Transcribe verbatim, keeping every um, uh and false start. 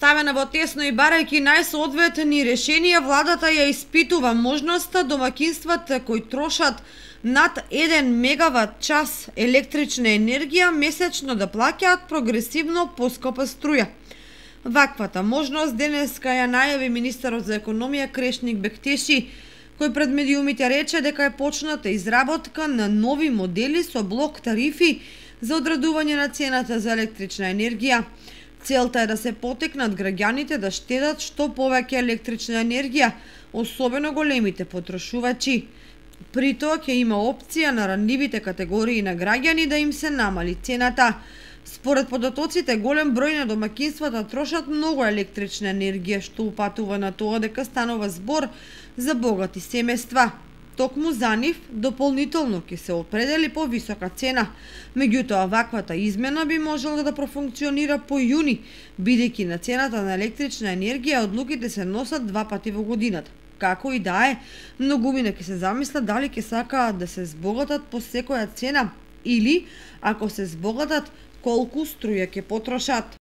Ставена во тесно и барајќи најсоодветни решенија, владата ја испитува можноста домаќинствата кои трошат над еден мегават час електрична енергија месечно да плаќаат прогресивно поскапа струја. Ваквата можност денеска ја најави министерот за економија Крешник Бектеши, кој пред медиумите рече дека е почната изработка на нови модели со блок тарифи за одредување на цената за електрична енергија. Целта е да се потикнат граѓаните да штедат што повеќе електрична енергија, особено големите потрошувачи. При тоа ќе има опција на ранливите категории на граѓани да им се намали цената. Според податоците, голем број на домаќинствата трошат многу електрична енергија, што упатува на тоа дека станува збор за богати семејства. Токму за нив дополнително ќе се определи повисока цена. Меѓутоа, ваквата измена би можела да профункционира по јуни, бидејќи на цената на електрична енергија одлуките се носат два пати во годината. Како и да е, многумина ќе се замислат дали ќе сакаат да се збогатат по секоја цена или, ако се збогатат, колку струја ќе потрошат.